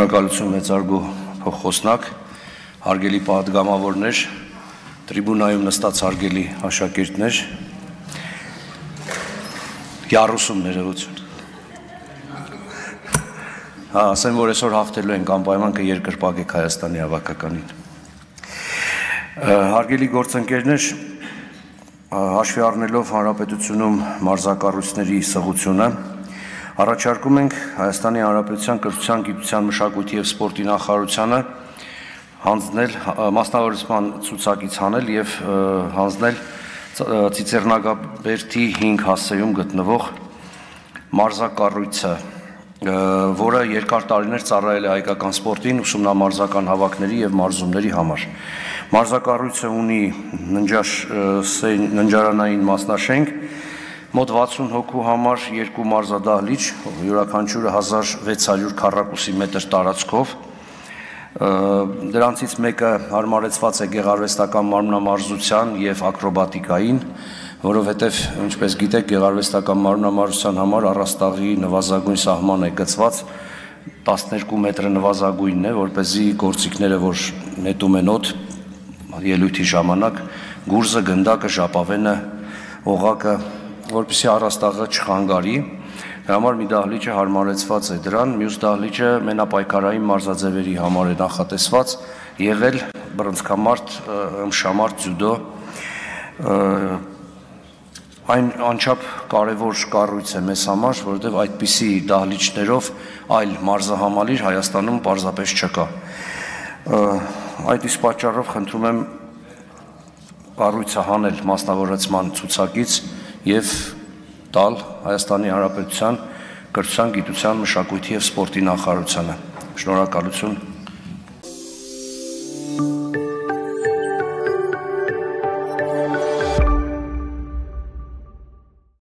Շնորհակալություն մեծարգո փոխխոսնակ, հարգելի պատգամավորներ, տրիբունայում նստած հարգելի աշակերտներ, Յառուսում ներողություն։ Ասեմ, որ այսօր հաղթելու ենք անպայման կերկրպագեք Հայաստանի հավաքականին։ Հարգելի գործընկերներ, հաշվի առնելով հանրապետությունում մարզակառույցների սղությունը, առաջարկում ենք Հայաստանի Հանրապետության կրթության, գիտության, մշակույթի և սպորտի նախարարությանը հանձնել մասնավորեցման ցուցակից հանել և հանձնել Ծիծեռնագաբերդի 5 հասցեում գտնվող մարզակառույցը, որը երկար տարիներ ծառայել է հայկական սպորտին, ուսումնամարզական հավաքների և մարզումների համար։ Մարզակառույցը ունի ննջարանային մասնաշենք, մոտ 60 հոգու համար 2 մարզադահլիճ, յուրաքանչյուրը 1600 քառակուսի մետր տարածքով, դրանցից մեկը հարմարեցված է գեղարվեստական մարմնամարզության և ակրոբատիկային, որովհետև, ինչպես գիտեք, գեղարվեստական մարմնամարզության համար առաստաղի նվազագույն սահման է գծված 12 մետրը նվազագույնն է, որպեսզի գործիքները, որ նետում են օդ ելույթի ժամանակ, գուրզը, գնդակը, ժապավենը, օղակը, որպեսզի առաստաղը չխանգարի, դրա համար մի դահլիճը հարմարեցված է դրան, մյուս դահլիճը մենապայքարային մարզաձևերի համար է նախատեսված, եղել բռնցքամարտ, ըմբշամարտ, ձյուդո, այն անչափ կարևոր կառույց է մեզ համար, որովհետև այդպիսի դահլիճներով այլ մարզահամալիր Հայաստանում պարզապես չկա։ Այդ իսկ պատճառով խնդրում եմ կառույցը հանել մասնավորեցման ցուցակից և տալ Հայաստանի Հանրապետության կրթության, գիտության, մշակույթի և սպորտի նախարարությանը։ Շնորհակալություն։